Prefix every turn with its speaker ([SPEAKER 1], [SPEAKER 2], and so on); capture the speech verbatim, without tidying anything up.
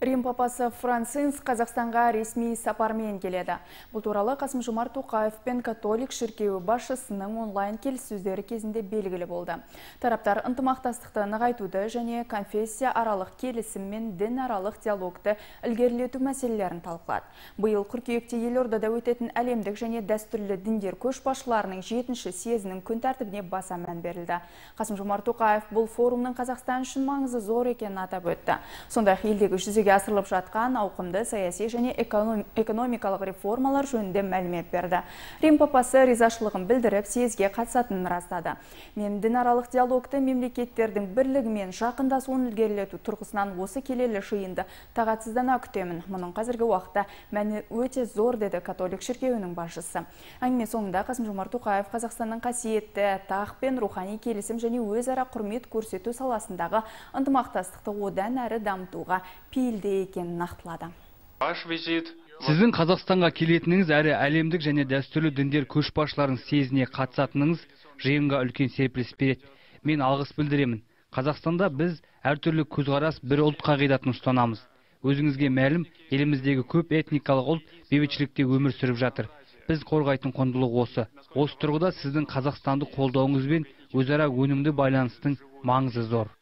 [SPEAKER 1] Рим папасы Франциск Қазақстанға ресми сапармен келеді. Бұл туралы Қасым-Жомарт Тоқаев пен католик шіркеуі басшысының онлайн келіссөздері кезінде белгілі болды. Тараптар ынтымақтастықты нығайтуды және конфессия аралық келісім мен дін аралық диалогты ілгерілету мәселелерін талқылады. Биыл қыркүйекте елордада өтетін әлемдік және дәстүрлі діндер көшбасшыларының жетінші съезінің күн тәртібіне баса мән берілді. Қасым-Жомарт Тоқаев бұл форумның Қазақстан үшін маңызы зор екенін атап өтті. Сондай-ақ елдегі жүзеге асырылып жатқан ауқымды саяси және экономикалық реформалар жөнінде мәлімет берді. Рим папасы ризашылығын білдіріп, съезге қатысатынын растады. Мен дінаралық диалогты мемлекеттердің бірлігі мен жақындасуын ілгерілету тұрғысынан осы келелі жиынды тағатсыздана күтемін. Мұның қазіргі уақытта мәні өте зор, деді католик шіркеуінің басшысы. Әңгіме соңында Қасым-Жомарт Тоқаев Қазақстанның қасиетті тақ пен рухани келісім және өзара құрмет көрсету саласындағы ынтымақтастықты одан әрі дамытуға пейілді екенін нақтылады.
[SPEAKER 2] Сіздің Қазақстанға келетініңіз әрі әлемдік және дәстүрлі діндер көшбасшыларының съезіне қатысатыныңыз жиынға үлкен серпіліс береді. Мен алғыс білдіремін. Қазақстанда біз әртүрлі көзқарас бір ұлт қағидатын ұстанамыз. Өзіңізге мәлім, еліміздегі көп этникалық ұлт бейбітшілікте өмір сүріп жатыр. Біз қорғайтын құндылық осы. Осы тұрғыда сіздің Қазақстанды қолдауыңыз бен өзара өнімді байланыстың маңызы зор.